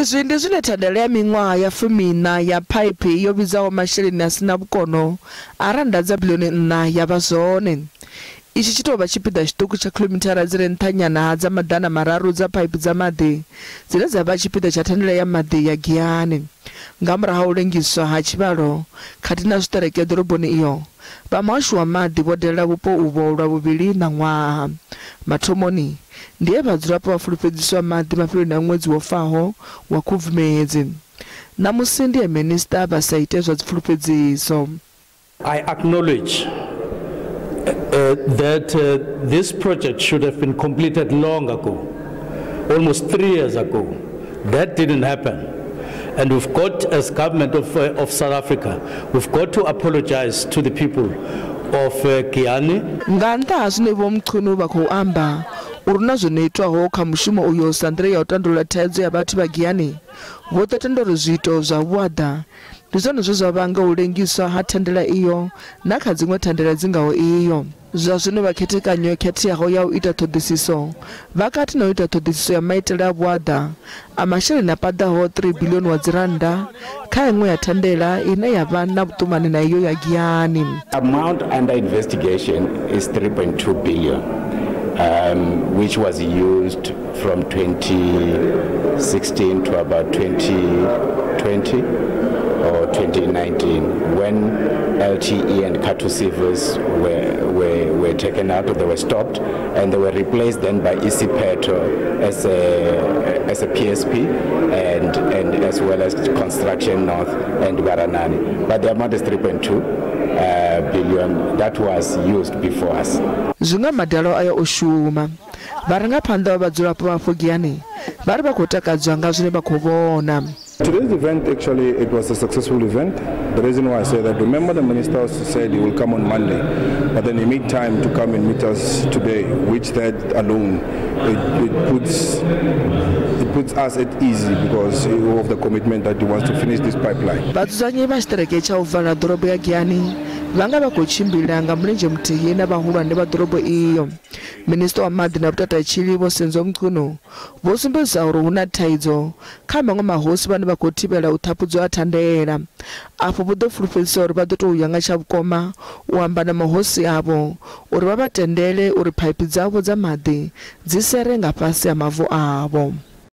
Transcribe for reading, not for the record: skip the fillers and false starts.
Izwi ndi zwine thandela ya miṅwaha ya 14 ya phaiphi yo vhidzaho masheleni a sina vhukono a rannda dza bilioni 4 ya vha zwone. Itshi tshi tou vha tshipiḓa tshiṱuku tsha khilomithara dzi re nṱhanyana ha dza 300 dza phaiphi dza maḓi dzine dza vha tshipiḓa tsha thandela ya maḓi ya Giyani. Nga murahu ha u lengiswa ha tshivhalo khathihi na zwiṱereke ḓoroboni iyo, vha muhasho wa maḓi vho dalela vhupo uvho lwa vhuvhili ṋaṅwaha. Mathomoni ndi he vhadzulapo vha fulufhedziswa maḓi mafheloni a ṅwedzi wo faho wa Khubvumedzi. Ṋamusi ndi he minisiṱa vha sa ite zwa dzipfulufhedziso. I acknowledge that this project should have been completed long ago, almost 3 years ago. That didn't happen. And we've got, as government of South Africa, we've got to apologize to the people of Giyani. Nga nnḓa ha zwine Vho Mchunu vha khou amba uri na zwo no itwaho kha mushumo uyo sa nḓila ya u tandulula thaidzo ya vhathu vha Giyani, vho ḓo tenda uri zwiito zwa vhuaḓa ndi zwone zwe zwa vhanga u lengiswa ha thandela iyo na kha dziṅwe thandela dzi ngaho iyo. Zwa zwino vha khethekanyo yo khetheaho ya u ita ṱhoḓisiso vha kati na u ita ṱhoḓisiso ya maitele a vhuaḓa a masheleni a paḓaho 3 bilioni wa dzirannda kha iṅwe ya thandela ine ya vha na vhuṱumani na iyo ya Giyani. Amount under investigation is 3.2 billion, which was used from 2016 to about 2020 or 2019, when LTE and Khathu Civils were taken out, or they were stopped, and they were replaced then by Isiphetho as a PSP and as well as Construction North and Baranani. But the amount is 3.2 billion that was used before us. Zwinga madalo aya o shuma. Vharangaphanḓa vha vhadzulapo vha afho Giyani vha ri vha khou takadzwa nga zwine vha khou vhona. Today's event, actually, it was a successful event. The reason why I say that, remember the minister said he will come on Monday, but then he made time to come and meet us today, which that alone, it puts us at ease because of the commitment that he wants to finish this pipeline. Vhadzudzanyi vha tshiṱereke tsha u vala ḓorobo ya Giyani vha nga vha khou tshimbila nga mulenzhe muthihi na vhahulwane vha ḓorobo iyo. Minisiṱa wa maḓi na vhutatshili Vho Senzo Mchunu vho sumbedzisa uri hu na thaidzo kha maṅwe mahosi vhane vha khou thivhela u ṱhaphudzwa ha thandela. Afho vho ḓo fulufhedzisa uri vha ḓo tou ya nga tsha vhukoma u amba na mahosi avho uri vha vha tendele uri phaiphi dzavho dza maḓi dzi sere nga fhasi ha mavu avho.